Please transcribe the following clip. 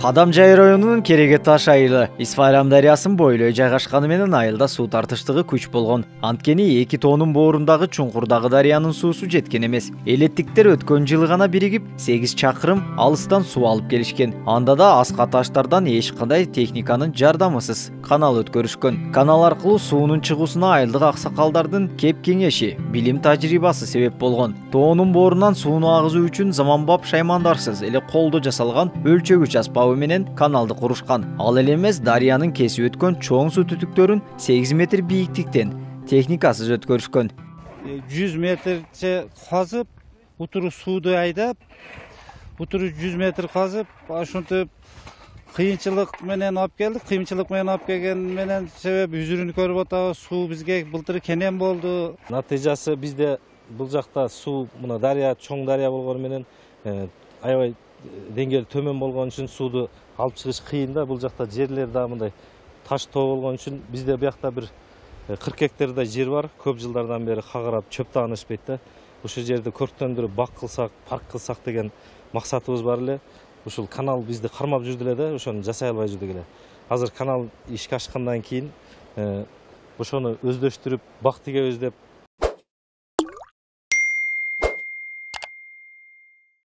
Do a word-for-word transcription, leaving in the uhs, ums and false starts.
Кадамжай районунун Кереге Таш айылы Исфайрам дарыясын бойлой жайгашканы менен айылда суу тартыштыгы күч болгон. Анткени эки тоонун боорундагы чуңкурдагы дарыянын суусу жеткен эмес. Элеттиктер өткөн жылы гана биригип сегиз чакырым алыстан суу алып келишкен. Анда да аска таштардан эч кандай техниканын жардамысыз канал өткөрүшкөн. Канал аркылуу суунун чыгуусуна айылдык аксакалдардын кеп кеңеши, билим тажрыйбасы себеп болгон. Тоонун боорунан сууну агызуу үчүн заманбап шаймандарсыз эле колдо жасалган өлчөгүч аспабы менен каналды курушкан. Ал эле эмес, дарыянын кесип өткөн чоң суу түтүктөрүн сегиз метр бийиктиктен техникасыз өткөрүшкөн. жүз метрче казып, утуру сууду айдап, утуру жүз метр казып, ошентип кыйынчылык менен алып келдик. Кыйынчылык менен алып келген менен себеп үзүрүн көрүп атабыз. Суу бизге былтыр кенен болду. Натыйжасы бизде бул жакта суу мына дарыя чоң дарыя болгону менен аябай деңгээли төмөн болгон үчүн сууду алып чыгыш кыйын да. Бул жакта жерлер да мындай таш тоо болгон үчүн бизде буякта бир кырк гектардай жер бар. Көп жылдардан бери кагарап чөп таанышпайт да. Ошол жерди көрктөндүрүп бак кылсак, парк кылсак деген максатыбыз бар эле. Ушул канал бизди кармап жүрдү эле да, ошону жасай албай жүрдүк эле. Азыр канал ишке ашкандан кийин ошону өздөштүрүп, бак тиге өздеп